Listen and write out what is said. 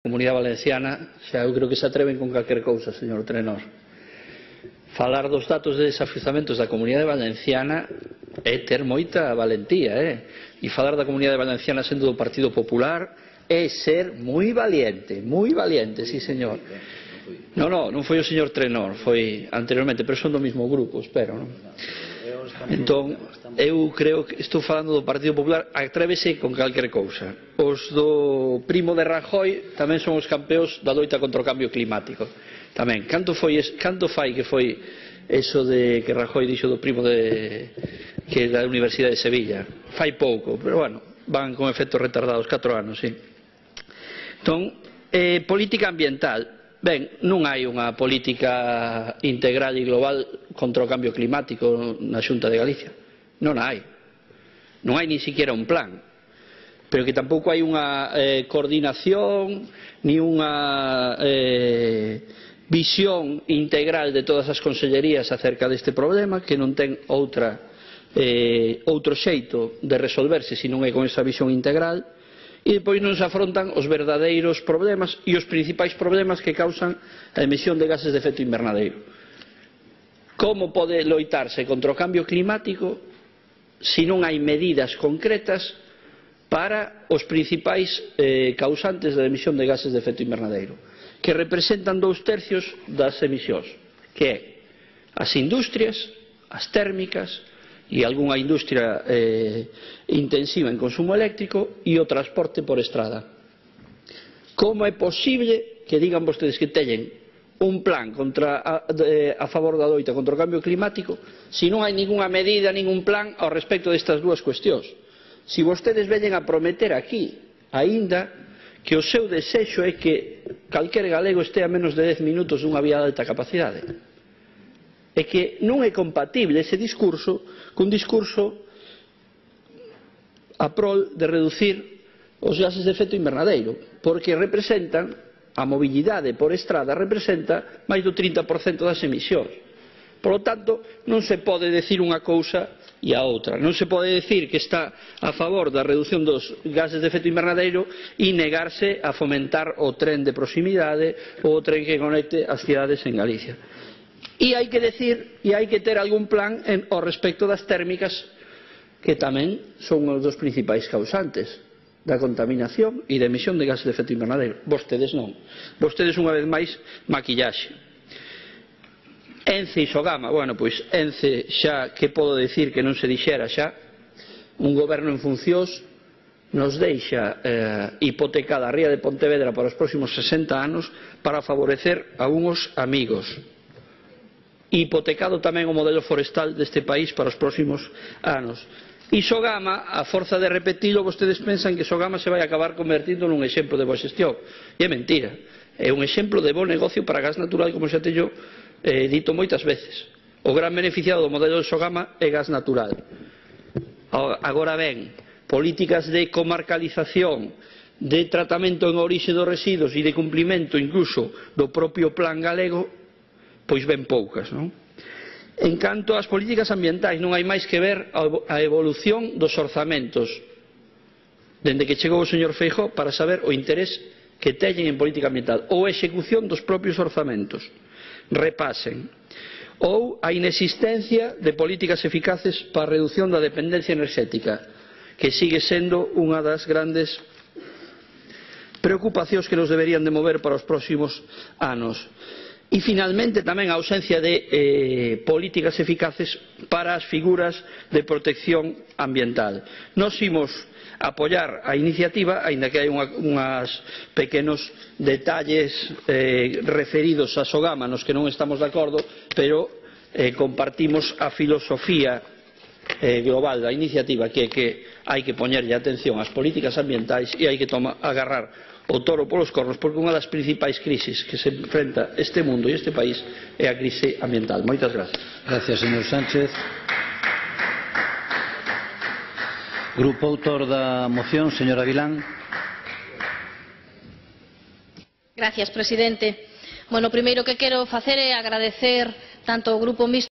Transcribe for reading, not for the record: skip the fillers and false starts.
Comunidade Valenciana, xa eu creo que se atreven con calquer cousa, señor Trenor. Falar dos datos de desafiuzamentos da Comunidade Valenciana é ter moita valentía, E falar da Comunidade Valenciana sendo do Partido Popular é ser moi valiente, sí, señor. Non foi o señor Trenor, foi anteriormente, pero son do mesmo grupo, espero, non? Entón, eu creo que estou falando do Partido Popular, atrévese con calquer cousa. Os do primo de Rajoy tamén son os campeóns da loita contra o cambio climático. Tamén, canto fai que foi eso de que Rajoy dixo do primo que da Universidade de Sevilla? Fai pouco, pero bueno, van con efectos retardados, 4 anos, sí. Entón, política ambiental. Ben, non hai unha política integral e global contra o cambio climático na Xunta de Galicia. Non hai. Non hai nin siquiera un plan. Pero que tampouco hai unha coordinación ni unha visión integral de todas as consellerías acerca deste problema, que non ten outro xeito de resolverse se non é con esa visión integral. E depois non se afrontan os verdadeiros problemas e os principais problemas que causan a emisión de gases de efecto invernadeiro. Como pode loitarse contra o cambio climático se non hai medidas concretas para os principais causantes da emisión de gases de efecto invernadeiro, que representan 2/3 das emisións, que é as industrias, as térmicas e algunha industria intensiva en consumo eléctrico e o transporte por estrada. Como é posible que digan vostedes que teñen un plan a favor da loita contra o cambio climático se non hai ningunha medida, ningún plan ao respecto destas dúas cuestións? Se vostedes veñen a prometer aquí, aínda que o seu desexo é que calquer galego este a menos de 10 minutos dunha vía de alta capacidade. É que non é compatible ese discurso cun discurso a prol de reducir os gases de efecto invernadeiro, porque representan, a mobilidade por estrada representa máis do 30% das emisións. Por lo tanto, non se pode decir unha cousa e a outra. Non se pode decir que está a favor da reducción dos gases de efecto invernadeiro e negarse a fomentar o tren de proximidade ou o tren que conecte as cidades en Galicia. E hai que decir, e hai que ter algún plan ao respecto das térmicas, que tamén son os dos principais causantes da contaminación e da emisión de gases de efecto invernadeiro. Vostedes non. Vostedes, unha vez máis, maquillaxe. Ence e Sogama, bueno, pois Ence xa, que podo decir que non se dixera xa, un goberno en funcións nos deixa hipotecada a ría de Pontevedra para os próximos 60 anos para favorecer a unhos amigos. Hipotecado tamén o modelo forestal deste país para os próximos anos. E Sogama, a forza de repetilo, vostedes pensan que Sogama se vai acabar convertindo nun exemplo de boa xestión. E é mentira. É un exemplo de bo negocio para gas natural, como xa teño dito moitas veces. O gran beneficiado do modelo de Sogama é gas natural. Agora ben, políticas de comarcalización, de tratamento en orixe dos residuos e de cumplimento incluso do propio plan galego, pois ben poucas, non? En canto ás políticas ambientais, non hai máis que ver a evolución dos orzamentos dende que chegou o señor Feijóo para saber o interés que teñen en política ambiental ou a execución dos propios orzamentos. Repasen. Ou a inexistencia de políticas eficaces para a reducción da dependencia enerxética, que sigue sendo unha das grandes preocupacións que nos deberían de mover para os próximos anos. E, finalmente, tamén a ausencia de políticas eficaces para as figuras de protección ambiental. Nos imos apoiar a iniciativa, aínda que hai unhas pequenos detalles referidos a Sogama nos que non estamos de acordo, pero compartimos a filosofía global da iniciativa, que é que hai que poñerlle atención ás políticas ambientais e hai que agarrar o toro polos cornos, porque unha das principais crisis que se enfrenta este mundo e este país é a crise ambiental. Moitas gracias. Gracias, señor Sánchez. Grupo autor da moción, señora Vilán. Gracias, presidente. Bueno, o primeiro que quero facer é agradecer tanto ao Grupo Mixto